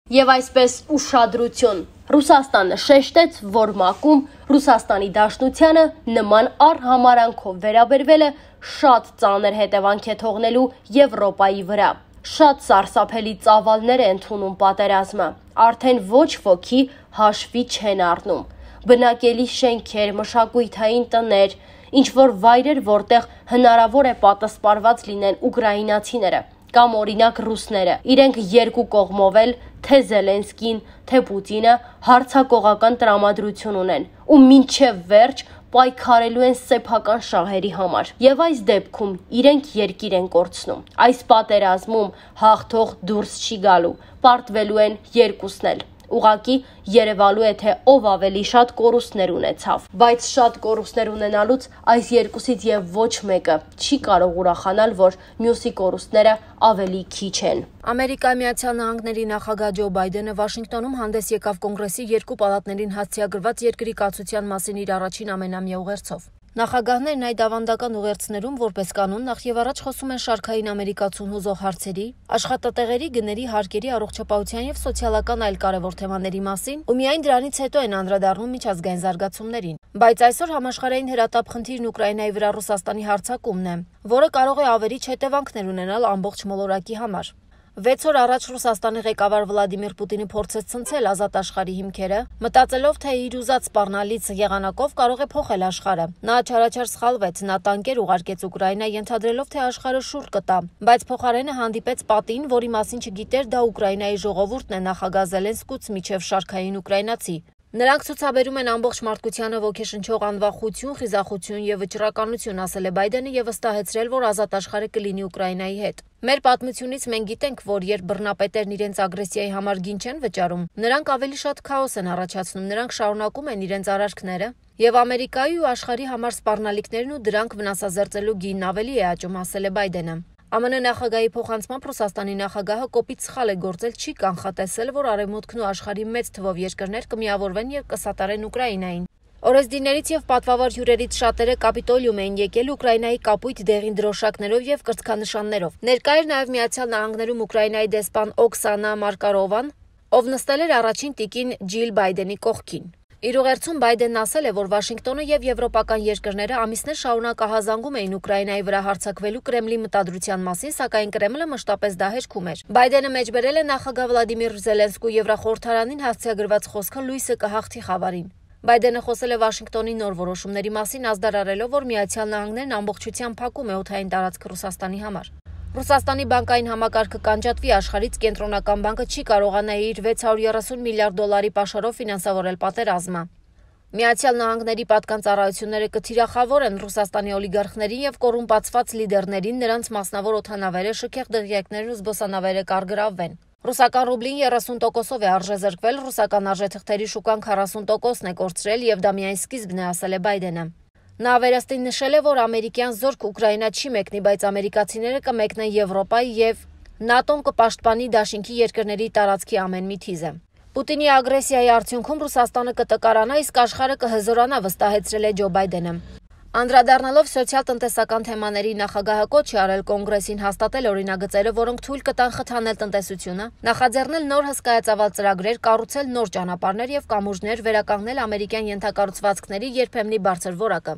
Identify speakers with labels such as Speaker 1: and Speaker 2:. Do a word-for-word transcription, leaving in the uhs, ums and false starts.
Speaker 1: Եվ այսպես ուշադրություն, Ռուսաստանը շեշտեց, որ ՄԱԿ-ում Ռուսաստանի Դաշնությանը նման առհամարանքով վերաբերվել է շատ ծանր հետևանք է թողնելու Եվրոպայի վրա։ Շատ սարսափելի ծավալներ է ընդունում պատերազմը, արդեն ոչ ոքի հաշվի չեն առնում։ Բնակելի շենքեր, մշակութային տներ, ինչ-որ վայրեր, որտեղ հնարավոր է պատասպարված լինեն ուկրաինացիները կամ օրինակ ռուսները, իրենք երկու կողմով էլ, թե Զելենսկին, թե Պուտինը հարձակողական տրամադրություն ունեն ու մինչև վերջ պայքարելու են սեփական շահերի համար։ Եվ այս դեպքում իրենք երկիր են կորցնում։ Այս պատերազմում հաղթող դուրս չի գալու, պարտվելու են երկուսն էլ։ Ուղղակի երևալու է, թե ով ավելի շատ կորուստներ ունեցավ, բայց շատ կորուստներ ունենալուց այս երկուսից եւ ոչ մեկը չի կարող ուրախանալ, որ մյուսի կորուստները ավելի քիչ են։
Speaker 2: Ամերիկայի Միացյալ Նահանգների նախագահ Ջո Բայդենը Վաշինգտոնում հանդես եկավ կոնգրեսի երկու պալատներին հաստիագրված երկրի կացության մասին իր առաջին ամենամյա ուղերձով։ Նախագահներն այդ ավանդական ուղերձներում որպես կանոն նախ եւ առաջ խոսում են շարքային ամերիկացուն հուզող հարցերի, աշխատատեղերի, գների, հարկերի, առողջապահության եւ սոցիալական այլ կարևոր թեմաների մասին ու միայն դրանից հետո են անդրադառնում միջազգային զարգացումներին։ Բայց այսօր համաշխարհային հրատապ խնդիրն Ուկրաինայի վրա Ռուսաստանի հարձակումն է, որը կարող է ավերիչ հետևանքներ ունենալ ամբողջ մոլորակի համար։ Վեց օր առաջ Ռուսաստանի ղեկավար Վլադիմիր Պուտինը փորձեց ցնցել ազատ աշխարհի հիմքերը, մտածելով, թե իր ուզած սպառնալից եղանակով կարող է փոխել աշխարհը։ Նա չարաչար սխալվեց, նա տանկեր ուղարկեց Ուկրաինա, ենթադրելով, թե աշխարհը շուռ կտա, բայց փոխարենը հանդիպեց պատին, որի մասին չգիտեր դա Ուկրաինայի ժողովուրդն է, նախագահ Զելենսկուց միջև շարքային ուկրաինացի։ Նրանք ցուցաբերում են ամբողջ մարդկությանը ոգեշնչող անվախություն, խիզախություն եւ վճռականություն, ասել է Բայդենը եւ վստահեցրել, որ ազատ աշխարհը կլինի Ուկրաինայի հետ։ Մեր պատմությունից մենք գիտենք, որ երբ բռնապետերն իրենց ագրեսիայի համար գին չեն վճարում, նրանք ավելի շատ քաոս են առաջացնում, նրանք շարունակում են իրենց արարքները եւ Ամերիկայի ու աշխարհի համար սպառնալիքներն ու դրանք վնասազերծելու գինն ավելի է աճում, ասել է Բայդենը։ ԱՄՆ նախագահի փոխանցմամբ Ռուսաստանի նախագահը կոպիտ սխալ է գործել, չի կանխատեսել, որ Արևմուտքն ու աշխարհի մեծ թվով երկրներ կմիավորվեն եւ կսատարեն Ուկրաինային։ Օրեսդիներից եւ պատվավոր հյուրերից շատերը Կապիտոլիում էին եկել Ուկրաինայի կապույտ դեղին դրոշակներով եւ կրծքանշաններով։ Ներկա էր նաեւ Միացյալ Նահանգներում Ուկրաինայի դեսպան Օքսանա Մարկարովան, ով նստել էր առաջին տիկին Ջիլ Բայդենի կողքին։ Իր ուղերձում Բայդենն ասել է, որ Վաշինգտոնը եւ եվրոպական երկրները ամիսներ շարունակ ահազանգում էին Ուկրաինայի վրա հարձակվելու Կրեմլի մտադրության մասին, սակայն Կրեմլը մշտապես դա հերքում էր։ Բայդենը մեջբերել է նախագահ Վլադիմիր Զելենսկու Եվրախորհրդարանին հասցեագրված խոսքը լույսը կհաղթի խավարին։ Բայդենը խոսել է Վաշինգտոնի նոր որոշումների մասին, ազդարարելով, որ Միացյալ Նահանգներն ամբողջությամբ փակում է օդային տարածքը Ռուսաստանի համար։ Ռուսաստանի բանկային համակարգը կանջատվի, աշխարհից կենտրոնական բանկը չի կարողանա իր վեց հարյուր երեսուն միլիարդ դոլարի պաշարով ֆինանսավորել պատերազմը։ Միացյալ Նահանգների պատկան ծառայությունները կթիրախավորեն Ռուսաստանի օլիգարխներին եւ կոռումպացված լիդերներին, նրանց մասնավոր օդանավերը, շքեղ դղյակներն ու զբոսանավերը կարգրավվեն։ Ռուսական ռուբլին երեսուն տոկոսով է արժեզրկվել, ռուսական արժեթղթերի շուկան քառասուն տոկոսն է կորցրել եւ դա միայն սկիզբն է, ասել է Բայդենը։ Նա վերստին նշել է, որ ամերիկյան զորք Ուկրաինա չի մեկնի, բայց ամերիկացիները կմեկնեն Եվրոպա եւ ՆԱՏՕ-ն կպաշտպանի դաշինքի երկրների տարածքի ամեն մի թիզը։ Պուտինի ագրեսիայի արդյունքում Ռուսաստանը կտկարանա, իսկ աշխարհը կհզորանա, վստահեցրել է Ջո Բայդենը։ Անդրադառնալով սոցիալ-տնտեսական թեմաների նախագահը կոչ է արել կոնգրեսին հաստատել օրինագծերը, որոնք թույլ կտան խթանել տնտեսությունը, նախաձեռնել նոր հսկայածավալ ծրագրեր, կառուցել նոր ճանապարհներ եւ կամուրջներ, վերականգնել ամերիկյան ենթակառուցվածքների երբեմնի բարձր որակը։